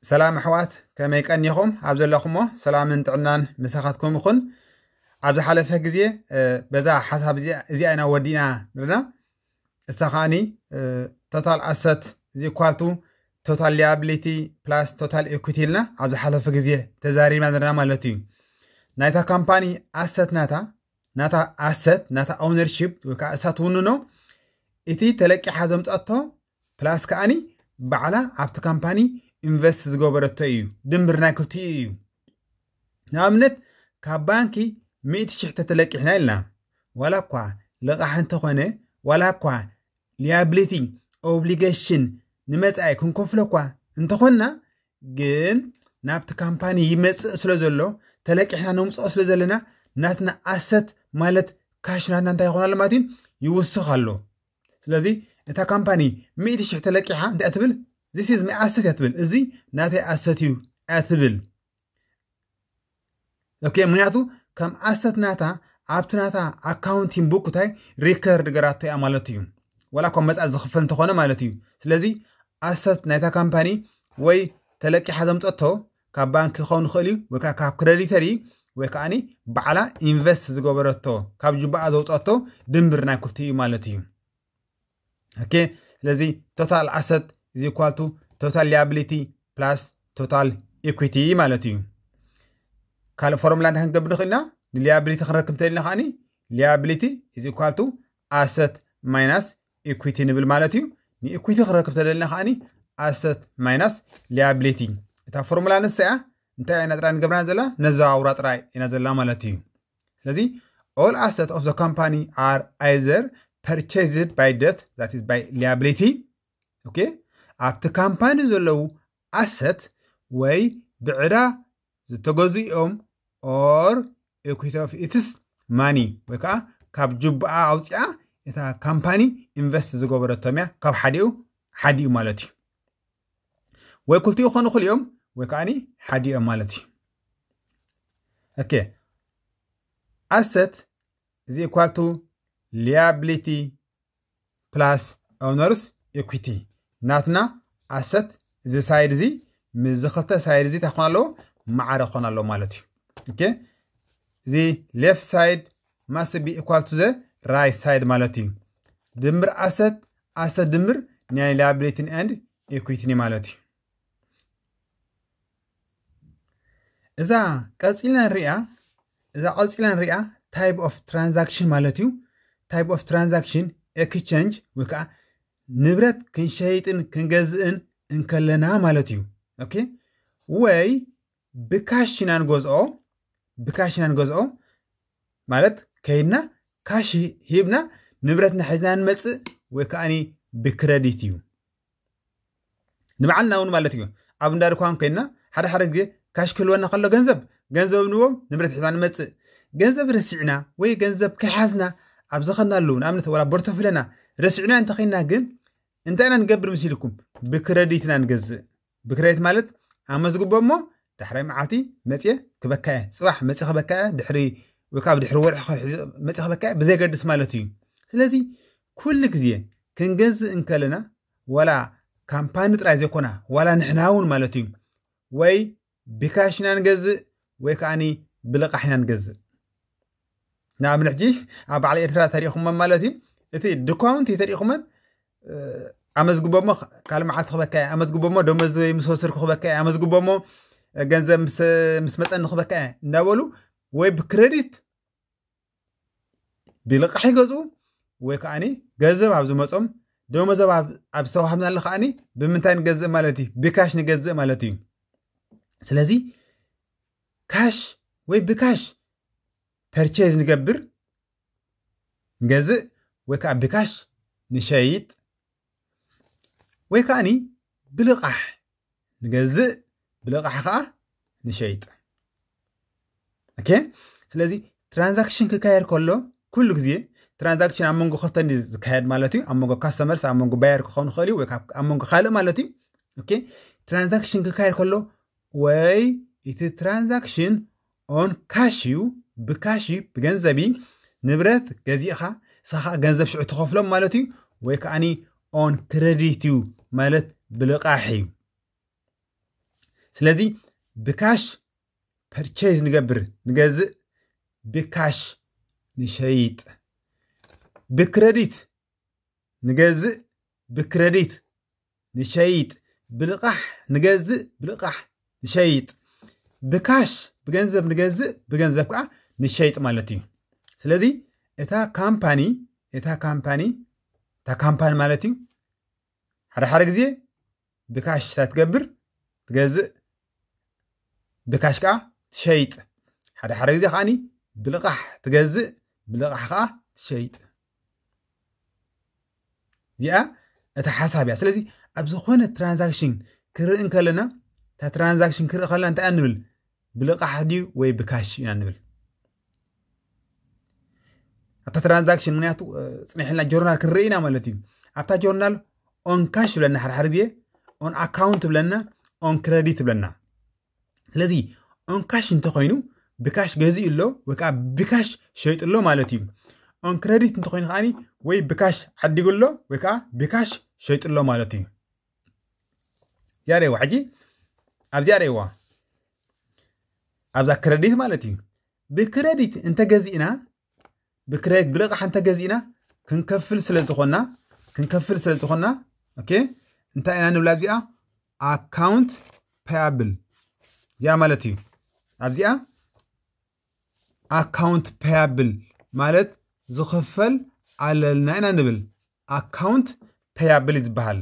ሰላም ኣሕዋት፣ ከመይ ቀኒኹም? ኣብ ዘለኹሞ ሰላምን ጥዕናን ምሳኻትኩም ይኹን። ኣብ ዝሓለፈ ግዜ በዛ ሓሳብ እዚኣ ኢና ወዲእና ንርና። እሳ ከዓኒ total asset is equal to total liability plus total equity ኢልና ኣብ ዝሓለፈ ግዜ ተዛሪብና ዘለና ማለት እዩ። ናይታ ካምፓኒ ኣሰት ናታ ናታ ኣሰት ናታ ኦውነርሺፕ ወይ ከዓ እሳ ትውንኖ እቲ ተለቂሓ ዘምፃቶ ፕላስ ከዓኒ ባዕላ ኣብቲ ካምፓኒ ኢንቨስት ዝገበረቶ እዩ። ድምር ናይ ክልቲኡ እዩ። ንኣብነት ካብ ባንኪ ሚእቲ ሽሕ ተተለቂሕና ኢልና ዋላ እኳ ልቓሕ እንተኾነ ዋላ እኳ ሊያብሊቲ ኦብሊጌሽን ንመፃኢ ክንከፍሎ እኳ እንተኾንና ግን ናብቲ ካምፓኒ ይመፅእ ስለ ዘሎ ተለቂሕና ነምፅኦ ስለ ዘለና ናትና ኣሰት ማለት ካሽ ናትና እንታይ ይኾን ኣሎ ማለት እዩ ይውስኽ ኣሎ። ስለዚ እታ ካምፓኒ ሚእቲ ሽሕ ተለቂሓ እንታይ ትብል? This is my asset እያ ትብል። እዚ ናተይ ኣሰት እዩ እያ ትብል። ኦኬ፣ ምክንያቱ ከም ኣሰት ናታ ኣብቲ ናታ ኣካውንቲንግ ቡክ እንታይ ሪከርድ ገራቶ እያ ማለት እዩ። ዋላ እኳ መፃ ዝኽፈል እንተኾነ ማለት እዩ። ስለዚ ኣሰት ናይታ ካምፓኒ ወይ ተለቂሓ ዘምፀቶ ካብ ባንክ ክኸውን ይኽእል እዩ ወይ ከዓ ካብ ክረዲተር እዩ ወይ ከዓኒ ባዕላ ኢንቨስት ዝገበረቶ ካብ ጅባኣ ዘውፀቶ ድምር ናይ ክልቲኡ እዩ ማለት እዩ። ኦኬ፣ ስለዚ total asset is equal to total liability plus total equity ማለት እዩ። ካልእ ፎርሙላ እንታይ ክንገብር ንኽእል ኢና? ንሊያብሊቲ ክንረክብ እንተልና ከዓኒ liability is equal to asset minus equity ንብል ማለት እዩ። ንኢኩዊቲ ክንረክብ ተደልና ከዓኒ ኣሰት ማይናስ ሊያብሊቲ። እታ ፎርሙላ ንሳ እያ። እንታይ ኢና ጥራይ ንገብራ ዘላ? ነዘዋውራ ጥራይ ኢና ዘላ ማለት እዩ። ስለዚ all asset of the company are either purchased by debt, that is by liability. ኦኬ፣ ኣብቲ ካምፓኒ ዘለዉ ኣሰት ወይ ብዕዳ ዝተገዙ እዮም or equity of its money ወይ ከዓ ካብ ጅቡኣ ኣውፅኣ እታ ካምፓኒ ኢንቨስት ዝገበረቶም እያ። ካብ ሓዲኡ ሓዲኡ ማለት እዩ። ወይ ክልቲኡ ክኾኑ ይኽእሉ እዮም ወይ ከዓኒ ሓዲኦም ማለት እዩ። ኦኬ፣ ኣሰት is equal to liability plus owners equity። ናትና ኣሰት እዚ ሳይድ እዚ ምስዚ ክልተ ሳይድ እዚ እንታይ ክኾን ኣለዎ? ማዕረ ክኾን ኣለዎ ማለት እዩ። ኦኬ፣ እዚ left side must be equal to the right side ማለት እዩ። ድምር ኣሰት ኣሰት ድምር ናይ liability and equity ማለት እዩ። እዛ ቀፂልና ንሪኣ እዛ ቀፂልና ንሪኣ type of transaction ማለት እዩ። Type of transaction exchange ወይ ከዓ ንብረት ክንሸይጥን ክንገዝእን እንከለና ማለት እዩ። ኦኬ፣ ወይ ብካሽ ኢና ንገዝኦ ብካሽ ኢና ንገዝኦ ማለት ከይድና ካሽ ሂብና ንብረትና ሒዝና ንመፅእ ወይ ከዓኒ ብክረዲት እዩ። ንባዕልና እውን ማለት እዩ። ኣብ እንዳ ድኳን ኮይንና ሓደ ሓደ ግዜ ካሽ ክህልወና ከሎ ገንዘብ ገንዘብ ንዎም ንብረት ሒዝና ንመፅእ። ገንዘብ ረሲዕና ወይ ገንዘብ ከይሓዝና ኣብ ዝኸድናሉ ንኣብነት ወላ ቦርቶፊለና ረሲዕና እንተኸይንና ግን እንታይ ኢና ንገብር ምስ ኢልኩም? ብክረዲት ኢና ንገዝእ። ብክረዲት ማለት ኣመዝግቦ እሞ ዳሕራይ መዓልቲ መፅየ ክበካ እየ፣ ፅባሕ መፅየ ክበካ እየ፣ ድሕሪ ወይ ካብ ድሕሪ ወርሒ መፅየ ክበካ እየ ብዘይገድስ ማለት እዩ። ስለዚ ኩሉ ግዜ ክንገዝእ እንከለና ዋላ ካምፓኒ ጥራይ ዘይኮና ዋላ ንሕና እውን ማለት እዩ ወይ ብካሽ ኢና ንገዝእ ወይ ከዓኒ ብልቓሕ ኢና ንገዝእ። ንኣብነት ሕጂ ኣብ በዓል ኤርትራ ተሪእኹመን ማለት እዩ እቲ ድኳውንቲ ተሪእኹመን ኣመዝግቦሞ ካልእ መዓልቲ ክበካ እየ ኣመዝግቦሞ ደሞዝ ምስ ወሰድኩ ክበካ እየ ኣመዝግቦሞ ገንዘብ ምስ መፀኒ ክበካ እየ እንዳበሉ ወይ ብክረዲት ብልቃሕ ይገዝኡ ወይ ከዓኒ ገንዘብ ኣብ ዝመፆም ደሞዞም ኣብ ዝተዋህብናሉ ከዓኒ ብምንታይ ንገዝእ ማለት እዩ ብካሽ ንገዝእ ማለት እዩ። ስለዚ ካሽ ወይ ብካሽ ፐርቼዝ ንገብር ንገዝእ ወይ ከዓ ብካሽ ንሸይጥ ወይ ከዓኒ ብልቓሕ ንገዝእ ብልቓሕ ከዓ ንሸይጥ። ኦኬ፣ ስለዚ ትራንዛክሽን ክካየድ ከሎ ኩሉ ግዜ ትራንዛክሽን ኣብ መንጎ ክልተ ዝካየድ ማለት እዩ። ኣብ መንጎ ካስተመርስ ኣብ መንጎ ባየር ክኸውን ይኽእል እዩ ወይ ኣብ መንጎ ካልእ ማለት እዩ። ኦኬ፣ ትራንዛክሽን ክካየድ ከሎ ወይ እቲ ትራንዛክሽን ኦን ካሽ እዩ ብካሽ እዩ ብገንዘብ እዩ ንብረት ገዚእኻ ንስኻ ገንዘብ ሽዑ ትኸፍሎም ማለት እዩ። ወይ ከዓኒ ኦን ክረዲት እዩ ማለት ብልቓሕ እዩ። ስለዚ ብካሽ ፐርቼዝ ንገብር፣ ንገዝእ፣ ብካሽ ንሸይጥ። ብክረዲት ንገዝእ፣ ብክረዲት ንሸይጥ። ብልቓሕ ንገዝእ፣ ብልቓሕ ንሸይጥ። ብካሽ ብገንዘብ ንገዝእ፣ ብገንዘብ ከዓ ንሸይጥ ማለት እዩ። ስለዚ እታ ካምፓኒ እታ ካምፓኒ እታ ካምፓኒ ማለት እዩ ሓደ ሓደ ግዜ ብካሽ እታ ትገብር፣ ትገዝእ፣ ብካሽ ከዓ ትሸይጥ። ሓደ ሓደ ግዜ ከዓኒ ብልቓሕ ትገዝእ፣ ብልቓሕ ከዓ ትሸይጥ። እዚኣ እታ ሓሳብ እያ። ስለዚ ኣብ ዝኾነ ትራንዛክሽን ክርኢ እንከለና እታ ትራንዛክሽን ክርኢ ከለና እንታይ ንብል? ብልቓሕ ድዩ ወይ ብካሽ ኢና ንብል? ኣብታ ትራንዛክሽን ምክንያቱ ጽኒሕልና ጆርናል ክንርኢ ኢና ማለት እዩ። ኣብታ ጆርናል ኦን ካሽ ብለና ሓደ ሓደ ግዜ፣ ኦን ኣካውንት ብለና፣ ኦን ክረዲት ብለና። ስለዚ ኦን ካሽ እንተኮይኑ ብካሽ ገዚኡ ኣሎ ወይ ከዓ ብካሽ ሸይጡ ኣሎ ማለት እዩ። ኦን ክረዲት እንተኮይኑ ከዓኒ ወይ ብካሽ ዓዲጉ ኣሎ ወይ ከዓ ብካሽ ሸይጡ ኣሎ ማለት እዩ። እዚኣ ርእይዋ ሕጂ ኣብዚኣ ርእይዋ ኣብዛ ክረዲት ማለት እዩ። ብክረዲት እንተገዚእና ብክረዲት ብልቓሕ እንተገዚእና ክንከፍል ስለ ዝኾና ክንከፍል ስለ ዝኾና ኦኬ እንታይ ኢና ንብላ ኣብዚኣ ኣካውንት ፓያብል እዚኣ ማለት እዩ። ኣብዚኣ ኣካውንት ፓያብል ማለት ዝኽፈል ኣለና ኢና ንብል። ኣካውንት ፓያብል ዝበሃል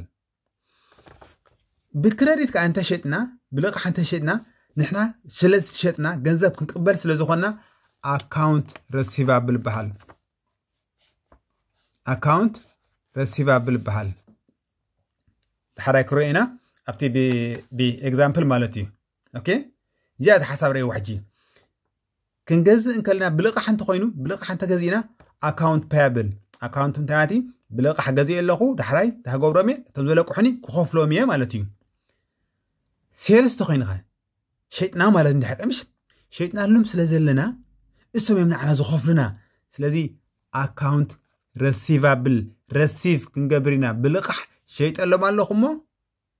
ብክረዲት ከዓ እንተሸጥና ብልቓሕ እንተሸጥና ንሕና ስለ ዝሸጥና ገንዘብ ክንቅበል ስለ ዝኾንና ኣካውንት ረሲቫብል ይበሃል። ኣካውንት ረሲቫብል ይበሃል። ድሓራይ ክረኦ ኢና ኣብቲ ብኤግዛምፕል ማለት እዩ። ኦኬ እዚኣ እቲ ሓሳብ ረእይዋ ሕጂ ክንገዝእ እንከልና ብልቓሕ እንተኮይኑ ብልቓሕ እንተገዚእና ኣካውንት ፓያብል ኣካውንት እንታይ ማለት እዩ? ብልቓሕ ገዚእ ኣለኹ ዳሕራይ ዳገብሮም እየ እቶም ዘለቅሑኒ ክኸፍሎም እየ ማለት እዩ። ሴልስ ተኮይንኸ ሸይጥና ማለት እንድሕር ቀምሽ ሸይጥናሎም ስለ ዘለና እሶም እዮም ንዓና ዝኸፍሉና። ስለዚ ኣካውንት ረሲቫብል ረሲቭ ክንገብር ኢና ብልቓሕ ሸይጠሎም ኣለኹ እሞ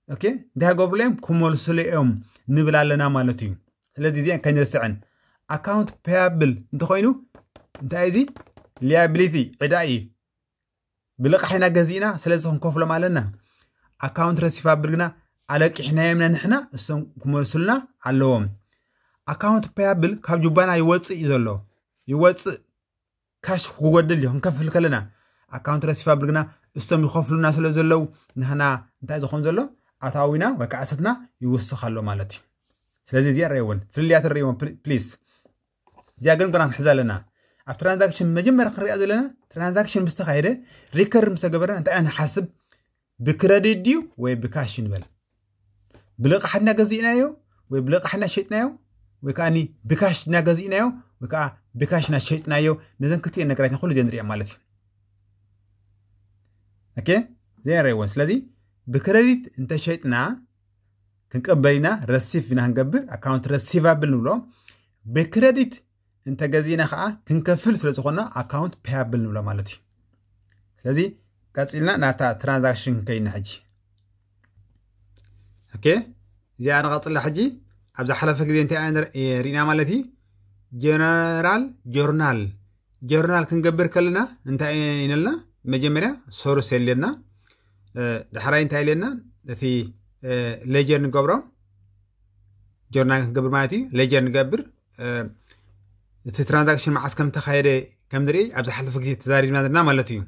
ኦኬ እንታይ ክገብሩሉ እዮም ክመልሱሉ እዮም ንብል ኣለና ማለት እዩ። ስለዚ እዚአን ከይንርስዐን ኣካውንት ፓያብል እንተኮይኑ እንታይ እዚ ሊያቢሊቲ ዕዳ እዩ። ብልቓሕ ኢና ገዚእና ስለዚ ክንከፍሎም ኣለና። ኣካውንት ረሲቫብል ግና ኣለቂሕናዮም ኢና ንሕና እሶም ክመልሱልና ኣለዎም። ኣካውንት ፓያብል ካብ ጁባና ይወፅእ እዩ ዘሎ ይወፅእ ካሽ ክጎድል እዩ ክንከፍል ከለና ኣካውንት ረሲቫብል ግና እሶም ይኸፍሉና ስለ ዘለዉ ንሕና እንታይ ዝኾን ዘሎ ኣታዊና ወይ ከዓ እሰትና ይውስኽ ኣሎ ማለት እዩ። ስለዚ እዚኣ ረእይወን ፍልልያት ረእይወን ፕሊስ። እዚኣ ግን ግና ክንሕዛ ኣለና። ኣብ ትራንዛክሽን መጀመርያ ክንሪኣ ዘለና ትራንዛክሽን ምስ ተኻየደ ሪከርድ ምስ ተገበረና እንታይ ኢና ንሓስብ? ብክረዲት ድዩ ወይ ብካሽ ንበል? ብልቓሕ ድና ገዚእናዮ ወይ ብልቓሕ ድና ሸጥናዮ ወይ ከዓ ብካሽ ድና ገዚእናዮ ወይ ከዓ ብካሽ ድና ሸጥናዮ? ነዘን ክልቲኤን ነገራት ኩሉ ግዜ ንሪኦ ማለት እዩ። ኦኬ እዚአን ረእይወን። ስለዚ ብክረዲት እንተሸጥና ክንቀበል ኢና ረሲቭ ኢና ክንገብር ኣካውንት ረሲቫብል ንብሎ። ብክረዲት እንተገዚእና ከዓ ክንከፍል ስለ ዝኾንና ኣካውንት ፓያብል ንብሎ ማለት እዩ። ስለዚ ቀፂልና ናታ ትራንዛክሽን ከይና ሕጂ ኦኬ እዚኣ ንቐፅላ ሕጂ ኣብ ዝሓለፈ ግዜ እንታይ ኢና ርኢና ማለት እዩ። ጀነራል ጆርናል ጆርናል ክንገብር ከለና እንታይ ኢነልና መጀመርያ ሶርስ የለና። ዳሕራይ እንታይ ኢለና እቲ ሌጀር ንገብሮ ጆርናል ክንገብር ማለት እዩ። ሌጀር ንገብር እቲ ትራንዛክሽን መዓስ ከም ተኻየደ ከም ንርኢ ኣብ ዝሓለፈ ግዜ ተዛሪብና ዘለና ማለት እዩ።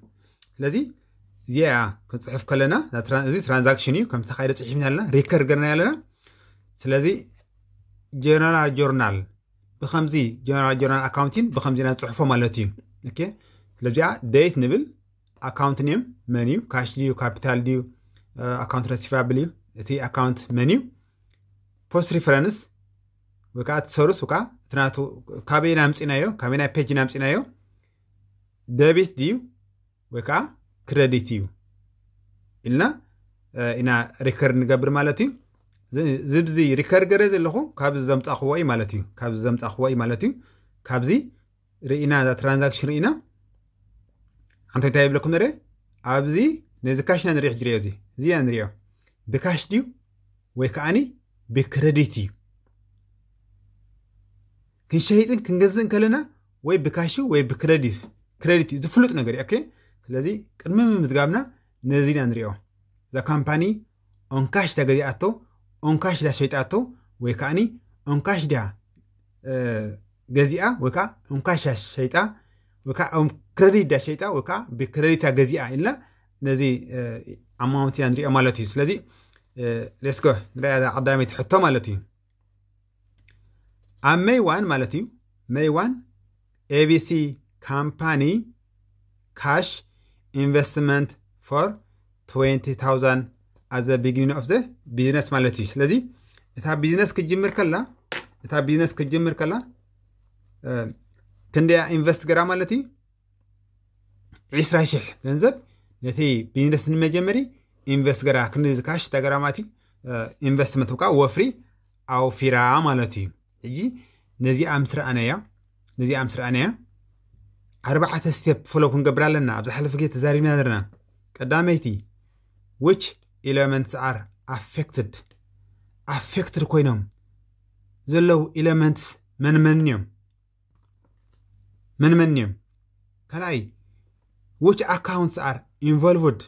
ስለዚ እዚኣ ክንፅሕፍ ከለና እዚ ትራንዛክሽን እዩ ከም ተኻየደ ፅሒፍና ኣለና ሪከርድ ገርና ኣለና። ስለዚ ጀነራል ጆርናል ብከምዚ ጀነራል ጆርናል ኣካውንቲን ብከምዚ ኢና ንፅሕፎ ማለት እዩ። ስለዚኣ ደይት ንብል ኣካውንት ኔም መን እዩ ካሽ ድዩ ካፒታል ድዩ ኣካውንት ረሲቫብል እዩ እቲ ኣካውንት መን እዩ ፖስት ሪፈረንስ ወይ ከዓ እቲ ሰርስ ወይ ከዓ እቲ ናቱ ካበይ ኢና ኣምፂናዮ ካበይ ናይ ፔጅ ኢና ኣምፂናዮ ደቢት ድዩ ወይ ከዓ ክረዲት እዩ ኢልና ኢና ሪከርድ ንገብር ማለት እዩ። ዝብዚ ሪከርድ ገረ ዘለኹ ካብዚ ዘምፃኽዎ እዩ ማለት እዩ ካብዚ ዘምፃኽዎ እዩ ማለት እዩ። ካብዚ ርኢና እዛ ትራንዛክሽን ርኢና ሓንቲ እንታይ ይብለኩም ንረ ኣብዚ ነዚ ካሽና ንሪኦ ሕጂ ሪኦ እዚ እዚያ ንሪኦ ብካሽ ድዩ ወይ ከዓኒ ብክረዲት እዩ። ክንሸይጥን ክንገዝእን ከለና ወይ ብካሽ ወይ ብክረዲት፣ ክረዲት እዩ ዝፍሉጥ ነገር እዩ። ኦኬ፣ ስለዚ ቅድሚ ምምዝጋብና ነዚ ኢና ንሪኦ። እዛ ካምፓኒ ኦንካሽ ዳ ገዚኣቶ፣ ኦንካሽ ዳ ሸይጣቶ፣ ወይ ከዓኒ ኦንካሽ ዳ ገዚኣ ወይ ከዓ ኦንካሽ ዳ ሸይጣ ወይ ከዓ ክረዲት ዳ ሸይጣ ወይ ከዓ ብክረዲት ዳ ገዚኣ ኢልና ነዚ ኣማውንት ኢና ንሪኦ ማለት እዩ። ስለዚ ሌስኮ ንሪኣ ቀዳመይቲ ሕቶ ማለት እዩ። ኣብ ሜይ ዋን ማለት እዩ፣ ሜይ ዋን ኤቢሲ ካምፓኒ ካሽ ኢንቨስትመንት ፎር ትዌንቲ ታውዛንድ ኣዘ ቢግኒንግ ኦፍ ዘ ቢዝነስ ማለት እዩ። ስለዚ እታ ቢዝነስ ክጅምር ከላ እታ ቢዝነስ ክጅምር ከላ ክንደያ ኢንቨስት ገራ ማለት እዩ። ዕስራ ሽሕ ገንዘብ ነቲ ቢዝነስ ንመጀመሪ ኢንቨስት ገራ ክንዲ ካሽ ተገራማት ኢንቨስትመንት ብካ ወፍሪ ኣውፊራ ማለት እዩ። ሕጂ ነዚኣ ምስ ረኣናያ ነዚኣ ምስ ረኣናያ ኣርባዕተ ስቴፕ ፎሎ ክንገብር ኣለና። ኣብ ዝሓለፈ ግዜ ተዛሪብና ነርና። ቀዳመይቲ which elements are affected affected ኮይኖም ዘለዉ ኤለመንትስ መን መን እዮም? መን መን እዮም? ካልኣይ which accounts are involved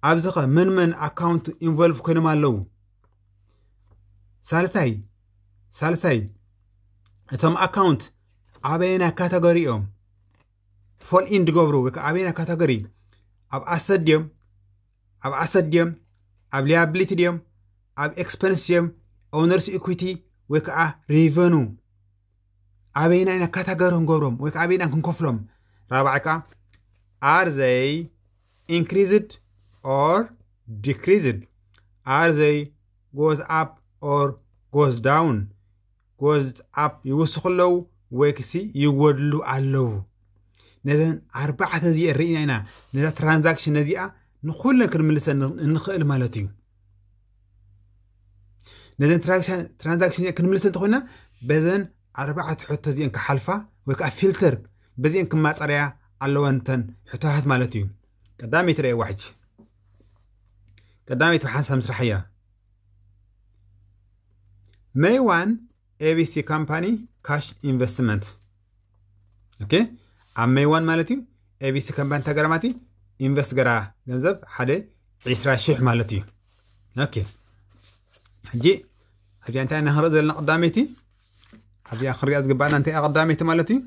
ኣብዚ ኸ መን መን ኣካውንት ኢንቮልቭ ኮይኖም ኣለዉ? ሳልሳይ ሳልሳይ እቶም ኣካውንት ኣበየና ካተጎሪ እዮም ፎል ኢን ዝገብሩ ወይ ከዓ ኣበየና ካተጎሪ ኣብ ኣሰት ድዮም ኣብ ኣሰት ድዮም ኣብ ሊያብሊቲ ድዮም ኣብ ኤክስፐንስ ድዮም ኦነርስ ኢኩዊቲ ወይ ከዓ ሪቨኑ ኣበይና ኢና ካታጎሪ ክንገብሮም ወይ ከዓ ኣበይና ክንከፍሎም? ራብዓይ ከዓ are they increased or decreased? Are they goes up or goes down? Goes up ይውስኹ ኣለዉ ወይ ክሲ ይጎድሉ ኣለዉ? ነዘን ኣርባዕተ እዚኤን ርኢና ኢና ነዛ ትራንዛክሽን ነዚኣ ንኩለን ክንምልሰን እንኽእል ማለት እዩ። ነዘን ትራንዛክሽን ክንምልሰን እንተኮይና በዘን ኣርባዕተ ሕቶ እዚኤን ክሓልፋ ወይ ከዓ ፊልተር በዚኤን ክማፀርያ ኣለወን እተን ሕቶታት ማለት እዩ። ቀዳመይቲ ረእዋ ሕጂ ቀዳመይቲ ብሓንሳብ ምስራሕ እያ። ሜይ ዋን ኤቢሲ ካምፓኒ ካሽ ኢንቨስትመንት ኦኬ ኣብ ሜይ ዋን ማለት እዩ። ኤቢሲ ካምፓኒ ተገረማቲ ኢንቨስት ገራ ገንዘብ ሓደ ዕስራ ሽሕ ማለት እዩ። ኦኬ ሕጂ ኣብዚኣ እንታይ ኢና ክንርኢ ዘለና ቀዳመይቲ ኣብዚኣ ክንሪኣ ዝግባእና እንታይ እያ ቀዳመይቲ ማለት እዩ።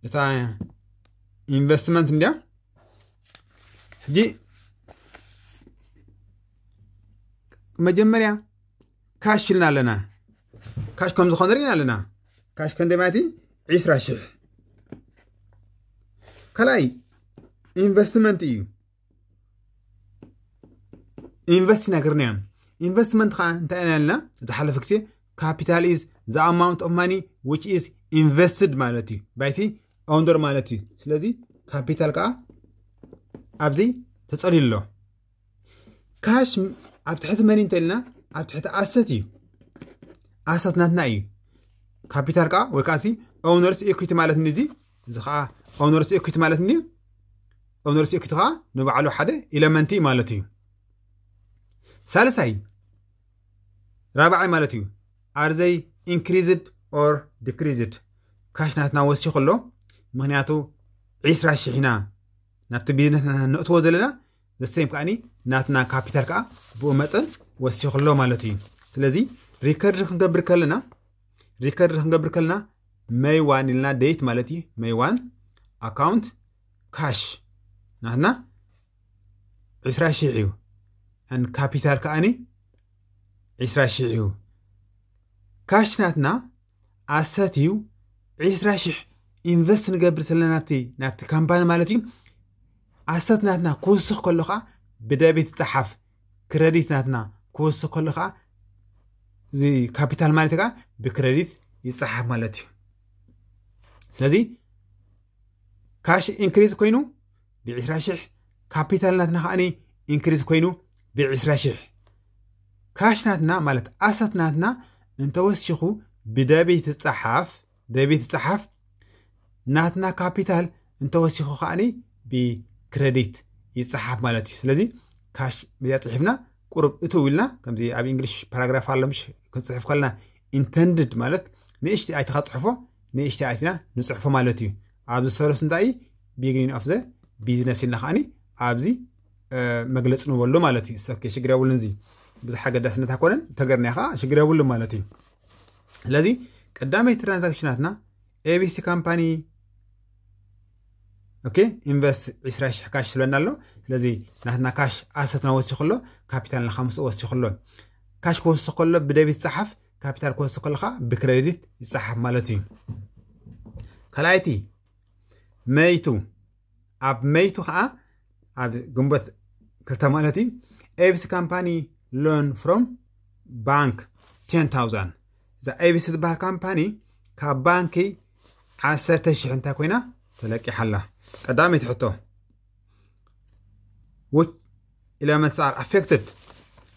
እታ ኢንቨስትመንት እንዲያ ሕጂ መጀመርያ ካሽ ኢልና ኣለና። ካሽ ከም ዝኾነ ርኢና ኣለና። ካሽ ከንደይ ማለት እዩ? ዕስራ ሽሕ ካልኣይ ኢንቨስትመንት እዩ። ኢንቨስት ነግርና እዮም። ኢንቨስትመንት ከዓ እንታይ ኢና ያልና ዝሓለፈ ግዜ capital is the amount of money which is invested ማለት እዩ ባይቲ ኦውነር ማለት እዩ። ስለዚ ካፒታል ከዓ ኣብዚ ተፀልዩ ኣሎ። ካሽ ኣብ ትሕቲ መን እንተልና ኣብ ትሕቲ ኣሰት እዩ። ኣሰት ናትና እዩ። ካፒታል ከዓ ወይ ከዓ ኦውነርስ ኢኩዊቲ ማለት እዚ እዚ ከዓ ኦውነርስ ኢኩዊቲ ማለት ኒ ኦውነርስ ኢኩዊቲ ከዓ ንባዕሉ ሓደ ኢለመንት እዩ ማለት እዩ። ሳልሳይ ራብዓይ ማለት እዩ are they increased or decreased? ካሽ ናትና ወሲኹ ኣሎ። ምክንያቱ ዕስራ ሽሕ ኢና ናብቲ ቢዝነስ ናትና ነእትዎ ዘለና ዘሰይም ከዓኒ ናትና ካፒታል ከዓ ብኡ መጠን ወሲኹ ኣሎ ማለት እዩ። ስለዚ ሪከርድ ክንገብር ከለና ሪከርድ ክንገብር ከለና ሜይ ዋን ኢልና ዴት ማለት እዩ። ሜይ ዋን ኣካውንት ካሽ ናትና ዕስራ ሽሕ እዩ። ን ካፒታል ከዓኒ ዕስራ ሽሕ እዩ። ካሽ ናትና ኣሰት እዩ። ዕስራ ሽሕ ኢንቨስት ንገብር ዘለና ናብቲ ናብቲ ካምፓኒ ማለት እዩ። ኣሰት ናትና ክውስኽ ከሎ ከዓ ብደቢት ይፀሓፍ። ክረዲት ናትና ክውስኽ ከሎ ከዓ እዚ ካፒታል ማለት ከዓ ብክረዲት ይፀሓፍ ማለት እዩ። ስለዚ ካሽ ኢንክሪዝ ኮይኑ ብዕስራ ሽሕ ካፒታል ናትና ከዓኒ ኢንክሪዝ ኮይኑ ብዕስራ ሽሕ ካሽ ናትና ማለት ኣሰት ናትና እንተወሲኹ ብደቢት ይፀሓፍ ደቢት ይፀሓፍ ናትና ካፒታል እንተወሲኹ ከዓኒ ብክረዲት ይፀሓፍ ማለት እዩ። ስለዚ ካሽ ብዚኣ ፅሒፍና ቁሩብ እትው ኢልና ከምዚ ኣብ እንግሊሽ ፓራግራፍ ኣሎ ምሽ ክንፅሕፍ ከለና ኢንተንድድ ማለት ንእሽቲ ኣይትኻ ፅሕፎ ንእሽቲ ኣይትና ንፅሕፎ ማለት እዩ። ኣብዚ ሰለስቱ እንታይ ቢግኒን ኦፍ ዘ ቢዝነስ ኢልና ከዓኒ ኣብዚ መግለፂ ንበሉ ማለት እዩ። ኦኬ ሽግር የብሉን። እዚ ብዙሕ ኣገዳስነት ኣኮነን ተገርና ከዓ ሽግር የብሉ ማለት እዩ። ስለዚ ቀዳመይቲ ትራንዛክሽናትና ኤቢሲ ካምፓኒ ኦኬ ኢንቨስት ዕስራ ሽሕ ካሽ ስለና ኣሎ። ስለዚ ናትና ካሽ ኣሰትና ወሲኹ ኣሎ፣ ካፒታል ንካ ምስኡ ወሲኹ ኣሎ። ካሽ ክወስኽ ከሎ ብደቢት ይፀሓፍ፣ ካፒታል ክወስኽ ከሎ ከዓ ብክሬዲት ይፀሓፍ ማለት እዩ። ካልኣይቲ መይቱ ኣብ መይቱ ከዓ ኣብ ግንቦት ክልተ ማለት እዩ ኤቢሲ ካምፓኒ ሎን ፍሮም ባንክ ቴን ታውዛንድ። እዛ ኤቢሲ ዝበሃል ካምፓኒ ካብ ባንኪ ዓሰርተ ሽሕ እንታይ ኮይና ተለቂሓ ኣላ። ቀዳመይቲ ሕቶ ውት ኢለመንትስ ኣር ኣፌክትድ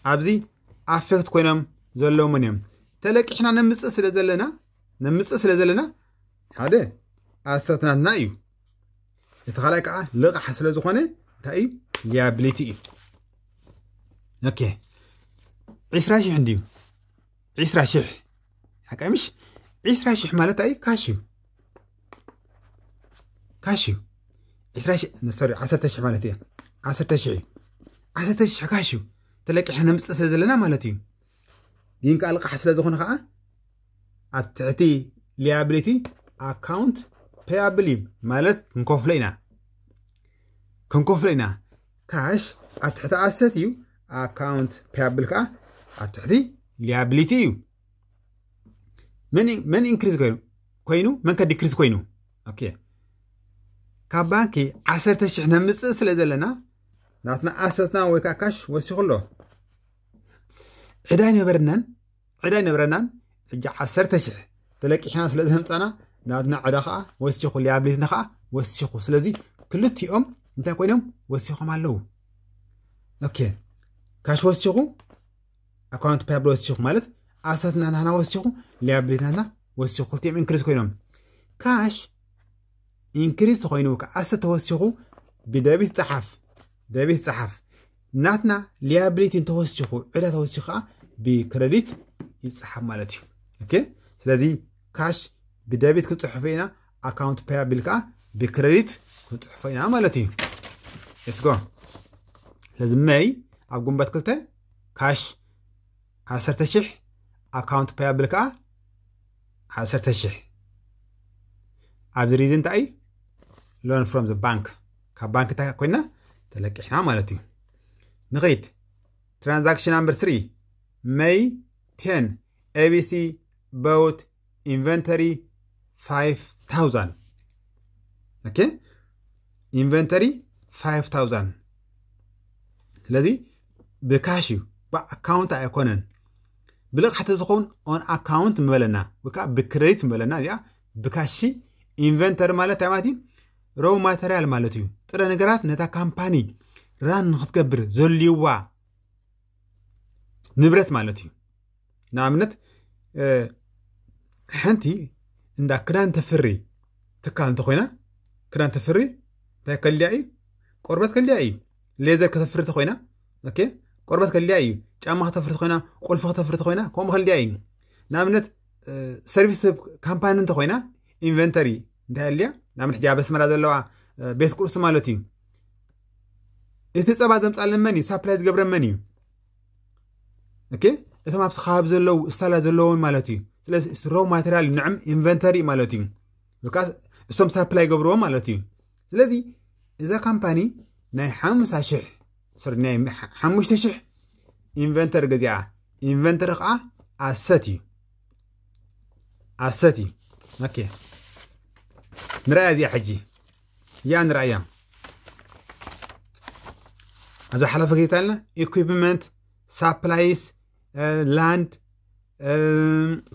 ኣብዚ ኣፌክት ኮይኖም ዘለዉ መን እዮም? ተለቂሕና ነምፅእ ስለ ዘለና ነምፅእ ስለ ዘለና ሓደ ኣሰት ናትና እዩ። እቲ ካልኣይ ከዓ ልቕሓ ስለ ዝኾነ እንታይ እዩ? ሊያብሊቲ እዩ። ኦኬ ዕስራ ሽሕ እንድዩ ዕስራ ሽሕ ሓቀምሽ ዕስራ ሽሕ ማለት ኣይ ካሽ እዩ። ካሽ እዩ። ዕስራ ሽሕ ሶሪ ዓሰርተ ሽሕ ማለት እየ። ዓሰርተ ሽሕ እዩ። ዓሰርተ ሽሕ ካሽ እዩ። ተለቂሕና ነምፅእ ስለ ዘለና ማለት እዩ። ግን ከዓ ልቕሓ ስለ ዝኾነ ከዓ ኣብ ትሕቲ ሊያብሊቲ ኣካውንት ፔያብል እዩ ማለት ክንከፍሎ ኢና ክንከፍሎ ኢና። ካሽ ኣብ ትሕቲ ኣሰት እዩ። ኣካውንት ፔያብል ከዓ ኣብ ትሕቲ ሊያብሊቲ እዩ። መን ኢንክሪዝ ኮይኑ መን ከ ዲክሪዝ ኮይኑ ኦኬ ካብ ባንኪ ዓሰርተ ሽሕ ነምፅእ ስለ ዘለና ናትና ኣሰትና ወይ ከዓ ካሽ ወሲኹ ኣሎ። ዕዳ ኣይነበረናን ዕዳ ኣይነበረናን ሕጂ ዓሰርተ ሽሕ ተለቂሕና ስለ ዘምፃና ናትና ዕዳ ከዓ ወሲኹ ሊያብሊትና ከዓ ወሲኹ። ስለዚ ክልቲኦም እንታይ ኮይኖም ወሲኾም ኣለዉ። ኦኬ ካሽ ወሲኹ ኣካውንት ፓያብል ወሲኹ ማለት ኣሰትና ናትና ወሲኹ ሊያብሊትና ናትና ወሲኹ ክልቲኦም ኢንክሪዝ ኮይኖም ካሽ ኢንክሪዝ ተኮይኑ ከዓ ኣሰት ተወሲኹ ብደቢት ፀሓፍ ደቢት ፀሓፍ ናትና ሊያብሊቲ እንተወሲኹ ዕዳ ተወሲኹ ከዓ ብክረዲት ይፀሓፍ ማለት እዩ። ኦኬ ስለዚ ካሽ ብደቢት ክንፅሕፎ ኢና። ኣካውንት ፓያብል ከዓ ብክረዲት ክንፅሕፎ ኢና ማለት እዩ። ስጎ ስለዚ መይ ኣብ ግንቦት ክልተ ካሽ ዓሰርተ ሽሕ ኣካውንት ፓያብል ከዓ ዓሰርተ ሽሕ ኣብዚ ሪዝን እንታይ እዩ? ሎን ፍሮም ዘ ባንክ ካብ ባንክ እንታይ ኮይና ተለቂሕና ማለት እዩ። ንኸይድ ትራንዛክሽን ናምበር ስሪ መይ ቴን ኤቢሲ ቦውት ኢንቨንተሪ ፋይቭ ታውዛንድ ኦኬ ኢንቨንተሪ ፋይቭ ታውዛንድ ስለዚ ብካሽ እዩ ብኣካውንት ኣይኮነን። ብልቕሓ ተዝኸውን ኦን ኣካውንት ምበለና ወይ ከዓ ብክረዲት ምበለና እዚኣ ብካሽ ኢንቨንተሪ ማለት እንታይ ማለት እዩ? ሮው ማተርያል ማለት እዩ። ጥረ ነገራት ነታ ካምፓኒ ራን ንክትገብር ዘልይዋ ንብረት ማለት እዩ። ንኣብነት ሓንቲ እንዳ ክዳን ተፍሪ ትካል እንተኮይና ክዳን ተፍሪ እንታይ ከልያ እዩ? ቆርበት ከልያ እዩ። ሌዘር ከተፍሪ ተኮይና ቆርበት ከልያ እዩ። ጫማ ከተፍሪ ተኮይና ቁልፊ ከተፍሪ ተኮይና ከምኡ ከልያ እዩ። ንኣብነት ሰርቪስ ካምፓኒ እንተኮይና ኢንቨንተሪ እንታይ ኣልያ ንኣብነት ሕጂ ኣብ ኣስመራ ዘለዋ ቤት ቁርሲ ማለት እዩ። እቲ ፀባ ዘምፃለን መን እዩ? ሳፕላይ ዝገብረን መን እዩ? እቶም ኣብቲ ከባቢ ዘለዉ ስታላ ዘለዎም ማለት እዩ። ስለዚ ሮ ማቴሪያል ንዕም ኢንቨንተሪ ማለት እዩ። እሶም ሳፕላይ ገብርዎም ማለት እዩ። ስለዚ እዛ ካምፓኒ ናይ ሓምሳ ሽሕ ናይ ሓሙሽተ ሽሕ ኢንቨንተሪ ገዚኣ። ኢንቨንተሪ ከዓ ኣሰት እዩ። ኣሰት እዩ። ኦኬ ንርኣያ እዚኣ ሕጂ እያ ንርኣያ። ኣብ ዝሓለፈ ጌታልና ኢኩፕመንት ሳፕላይስ ላንድ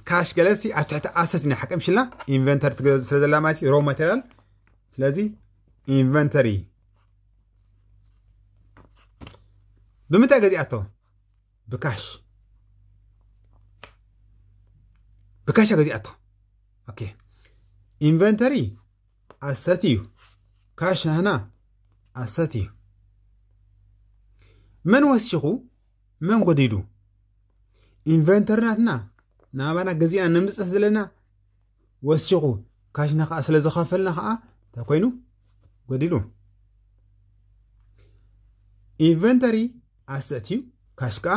ካሽ ገለሲ ኣብ ትሕቲ ኣሰት ኢና ሓቀምሽልና ኢንቨንተሪ ትገዝ ስለ ዘላ ማለት ሮ ማቴሪያል። ስለዚ ኢንቨንተሪ ብምንታይ ገዚኣቶ? ብካሽ ብካሽ ገዚኣቶ። ኦኬ ኢንቨንተሪ ኣሰት እዩ። ካሽ ናህና ኣሰት እዩ። መን ወሲኹ? መን ጎዲሉ? ኢንቨንተሪ ናትና ናባና ገዚእና ነምፅእ ዘለና ወሲኹ፣ ካሽና ከዓ ስለ ዝኸፈልና ከዓ እንታይ ኮይኑ ጎዲሉ? ኢንቨንተሪ ኣሰት እዩ፣ ካሽ ከዓ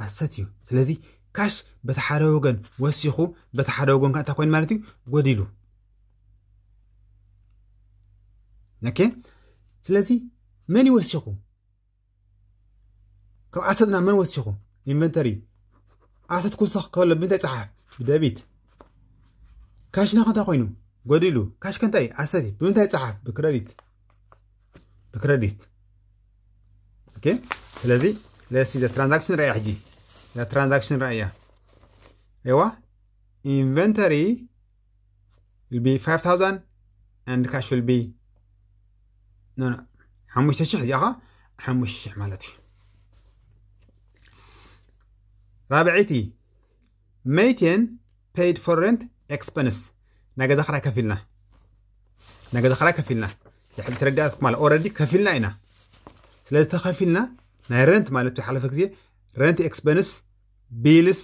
ኣሰት እዩ። ስለዚ ካሽ በቲ ሓደ ወገን ወሲኹ፣ በቲ ሓደ ወገን ከዓ እንታይ ኮይኑ ማለት እዩ? ጎዲሉ። ኦኬ። ስለዚ መን ይወሲኹ? ካብ ኣሰትና መን ወሲኹ? ኢንቨንተሪ። ኣሰት ክውሰኽ ከሎ ብምንታይ ይፀሓፍ? ብደቢት። ካሽና ከ እንታይ ኮይኑ? ጎዲሉ። ካሽ ከ እንታይ? ኣሰት እዩ። ብምንታይ ይፀሓፍ? ብክረዲት። ብክረዲት። ኦኬ። ስለዚ let's see the transaction ርኣያ ሕጂ። እዛ ትራንዛክሽን ርኣያ። ሬዋ ኢንቨንተሪ will be five thousand and cash will be no no ሓሙሽተ ሽሕ እዚኣ ኸ ሓሙሽተ ሽሕ ማለት እዩ። ራብዐይቲ መይቴን paid for rent expense ናይ ገዛ ክራይ ከፊልና ናይ ገዛ ክራይ ከፊልና ድሕሪ ተረዳእትኩም ማለት already ከፊልና ኢና። ስለዚ ተኸፊልና ናይ ረንት ማለት እዩ ሓለፈ ግዜ rent expense bills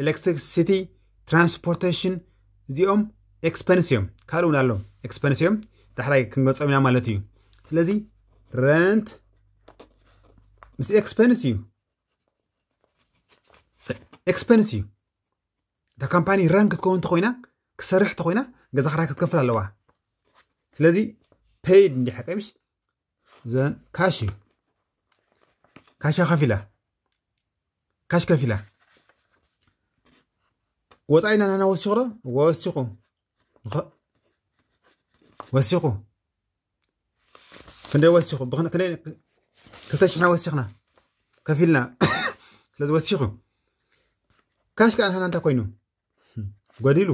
electricity transportation እዚኦም expense እዮም። ካልእ እውን ኣሎ expense እዮም። ዳሕራይ ክንገልጾም ኢና ማለት እዩ። ስለዚ ረንት ምስ expense እዩ expense እዩ። እታ ካምፓኒ ራን ክትከውን እንተኮይና ክሰርሕ እንተኮይና ገዛ ክራይ ክትከፍል ኣለዋ። ስለዚ paid እንዲ ሓቀምሽ ዘን ካሽ እዩ። ካሽ ከፊላ ካሽ ከፊላ ወፃኢና ናና ወሲኹ ዶ ወሲኹ ወሲኹ ክንደይ ወሲኹ ብክልተ ሽሕና ወሲኽና ከፊልና ስለዚ ወሲኹ ካሽ ከዓ ንሃና እንታይ ኮይኑ ጎዲሉ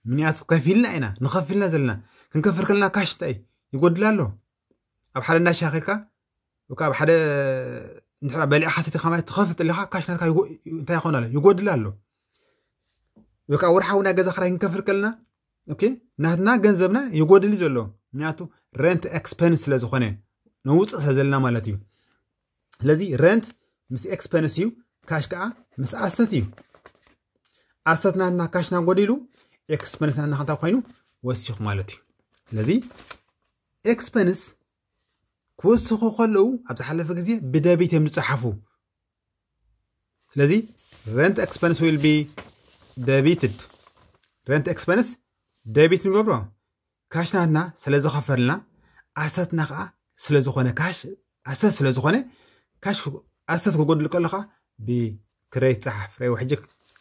ምክንያቱ ከፊልና ኢና ንኸፊልና ዘለና ክንከፍር ከለና ካሽ እንታይ ይጎድል ኣሎ ኣብ ሓደ እንዳሻ ከድካ ወይ ከዓ ኣብ ሓደ እንድሕራ በሊዕካ ሰቲኻ ማለት ትኸፍል ኣለኻ ካሽ ናትካ እንታይ ይኾን ኣሎ ይጎድል ኣሎ ወይ ከዓ ወርሓዊ ናይ ገዛ ክራይ ክንከፍል ከለና ኦኬ ናትና ገንዘብና ይጎድል ዘሎ ምክንያቱ ረንት ኤክስፐንስ ስለ ዝኾነ ነውፅእ ስለ ዘለና ማለት እዩ ስለዚ ረንት ምስ ኤክስፐንስ እዩ ካሽ ከዓ ምስ ኣሰት እዩ ኣሰት ናትና ካሽና ጎዲሉ ኤክስፐንስ ናትና ከንታ ኮይኑ ወሲኹ ማለት እዩ ስለዚ ኤክስፐንስ ክወስኹ ከለዉ ኣብ ዝሓለፈ ግዜ ብደቢት እዮም ዝፀሓፉ ስለዚ rent expense will be debited rent expense debit ንገብሮ ካሽ ናትና ስለ ዝኸፈልና ኣሰትና ከዓ ስለ ዝኾነ ካሽ ኣሰት ስለ ዝኾነ ካሽ ኣሰት ክጎድል ከለኻ ብክሬዲት ፀሓፍ ረይዎ ሕጂ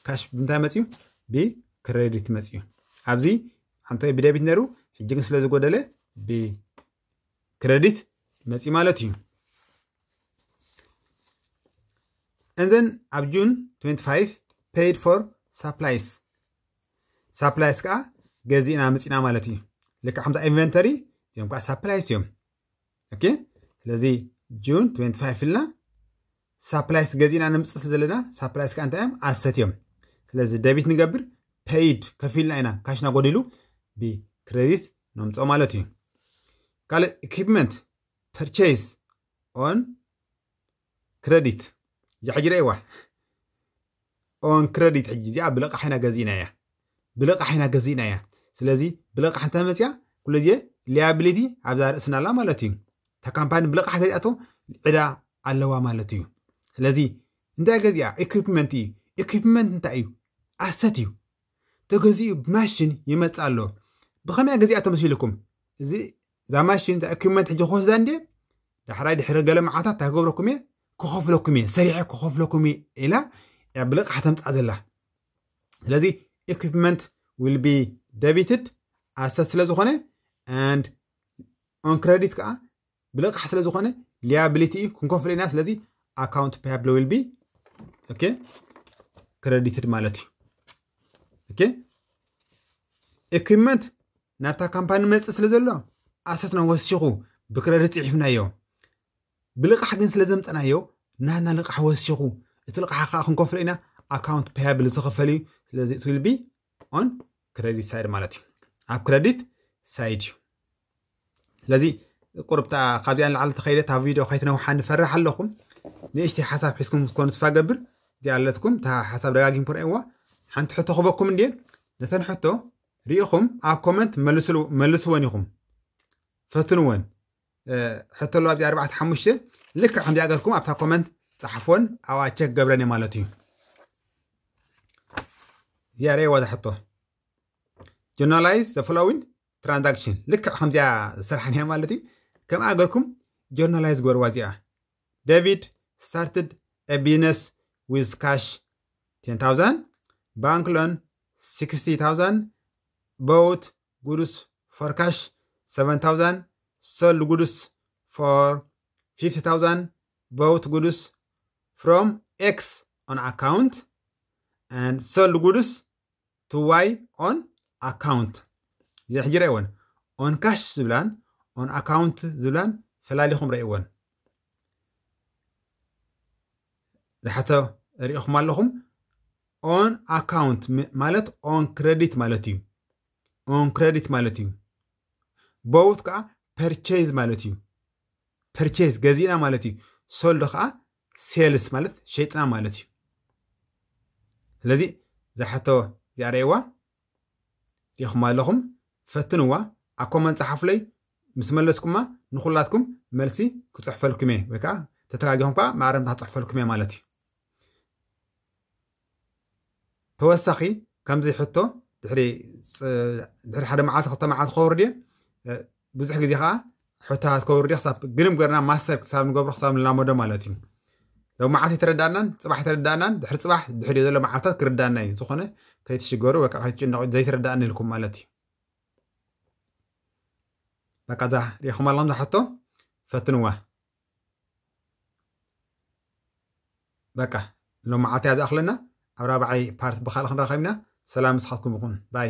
ካሽ ብምንታይ መፅዩ ብክሬዲት መፅዩ ኣብዚ ሓንተ ብደቢት ነሩ ሕጂ ግን ስለ ዝጎደለ ብክሬዲት መፅዩ ማለት እዩ And then ኣብ June twenty-five paid for supplies supplies ከዓ ገዚእና ምፂና ማለት እዩ ልካ ከምዛ ኢንቨንተሪ እዚኦም ከዓ supplies እዮም okay ስለዚ June twenty-five ኢልና supplies ገዚእና ንምፅእ ዘለና supplies ከዓ እንታይ እዮም ኣሰት እዮም ስለዚ ደቢት ንገብር paid ከፊልና ኢና ካሽና ጎዲሉ ብክሬዲት ነምፅኦ ማለት እዩ ካልእ equipment purchase on credit እዚኣ ሕጂ ረእዋ on credit ሕጂ እዚኣ ብልቓሕ ኢና ገዚእና እያ ብልቓሕ ኢና ገዚእና እያ ስለዚ ብልቓሕ እንተ መፅያ ኩሉ ግዜ liability ኣብዛ ርእስና ኣላ ማለት እዩ እታ ካምፓኒ ብልቓሕ ገዚኣቶ ዕዳ ኣለዋ ማለት እዩ ስለዚ እንታይ ገዚኣ equipment እዩ equipment እንታይ እዩ ኣሰት እዩ ተገዚኡ ብማሽን ይመፅእ ኣሎ ብኸመይ ገዚኣ ተመሲልኩም እዚ እዛ ማሽን እዛ equipment ሕጂ ክወስዳ እንድየ ዳሕራይ ድሕሪ ገለ መዓታት እንታይ ክገብረኩም እየ ክኸፍለኩም እየ ሰሪሐ ክኸፍለኩም እየ ኢላ እያ ብልቓሕ ተምፃእ ዘላ ስለዚ equipment will be debited ኣሰት ስለ ዝኾነ and on credit ከዓ ብልቓሕ ስለ ዝኾነ liability እዩ ክንከፍሎ ኢና ስለዚ account payable will be okay credited ማለት እዩ okay equipment ናብታ ካምፓኒ መፅእ ስለ ዘሎ ኣሰትና ወሲኹ ብክረዲት ፅሒፍናዮ ብልቓሕ ግን ስለ ዘምፀናዮ ናና ልቓሕ ወሲኹ እቲ ልቓሕ ከዓ ክንከፍሎ ኢና account payable ዝኽፈል እዩ ስለዚ it will be on credit side ማለት እዩ ኣብ credit side እዩ ስለዚ ቁርብታ ካብዚኣ ንላዕሊ ተኸይደ ኣብ ቪድዮ ከይትነውሓ ንፈርሕ ኣለኹም ንእሽተይ ሓሳብ ሒዝኩም ክትኮኑ ተስፋ ገብር። እዚኣ ኣለትኩም፣ እታ ሓሳብ ደጋጊምኩም ረእይዋ። ሓንቲ ሕቶ ክበኩም እንድየ። ነተን ሕቶ ርኢኹም ኣብ ኮመንት መልስሉ-፣ መልስወን ኢኹም። ፈትንወን። እ፣ ሕቶ ኣለዋ ኣብዚ ኣርባዕተ ሓሙሽተ። ልክዕ ከምዚኣ ገርኩም ኣብታ ኮመንት ጸሓፍወን፣ ኣብኣ ቸክ ገብረን እየ ማለት እዩ። እዚኣ ረእይዋ እዛ ሕቶ። Journalize the following transaction። ልክዕ ከምዚኣ ዝሰርሓን እያ ማለት እዩ። ከምኣ ገርኩም ጆርናላይዝ ግበርዋ እዚኣ። David started a business with cash ten thousand, bank loan sixty thousand, bought goods for cash seven thousand, sold goods for fifty thousand, bought goods from X on account and sold goods to Y on account። እዚ ሕጂ ረእይወን። On cash ዝብላን on account ዝብላን ፈላሊኹም ረእይወን። ዝሓቶ ርኢኹም ኣለኹም። On account ም-፣ ማለት on credit ማለት እዩ። On credit ማለት እዩ። Bought ከዓ ፐርቼዝ ማለት እዩ። ፐርቼዝ ገዚእና ማለት እዩ። Sold ከዓ ሴልስ ማለት ሸይጥና ማለት እዩ። ስለዚ ዝሓቶ እዚኣ ረእይዋ፣ ርኢኹማ ኣለኹም፣ ፈትንዋ፣ ኣብ ኮመንት ጸሓፉለይ። ምስ መለስኩማ ንኹላትኩም መልሲ ክጽሕፈልኩም እየ፣ ወይ ከዓ ተተጋጊኹም ከዓ ማዕረምታ ክጽሕፈልኩም እየ ማለት እዩ። ተወሳኺ ከምዚ ሕቶ ድሕሪ ፅ-፣ ድሕሪ ሓደ መዓልቲ ክልተ መዓልቲ ክኸውን ድየ? እ፣ ብዙሕ ግዜ ከዓ ሕቶታት ክኸውን ድየ? ክሳብ ግንም ገርና ማስተር ክሳብ ንገብሮ ክሳብ ንላመዶ ማለት እዩ። ሎማዓልቲ ኣይተረዳእናን፣ ጽባሕ ኣይተረዳእናን፣ ድሕሪ ጽባሕ ድሕሪ ዘሎ መዓልታት ክርዳእና እዩ። ዝኾነ ከይትሽገሩ ወይ ከዓ ከይትጭነቑ ዘይተረዳእኒ ኢልኩም ማለት እዩ። በቃ እዛ ሪኢኹም ኣለኹም እዛ ሕቶ ፈትንዋ። በቃ ሎማዓልቲ ኣብ ዝኣኽለና ኣብ ራብዓይ ፓርት ብኻልእ ክንራኸብ ኢና። ሰላም ምሳኻትኩም ይኹን። ባይ።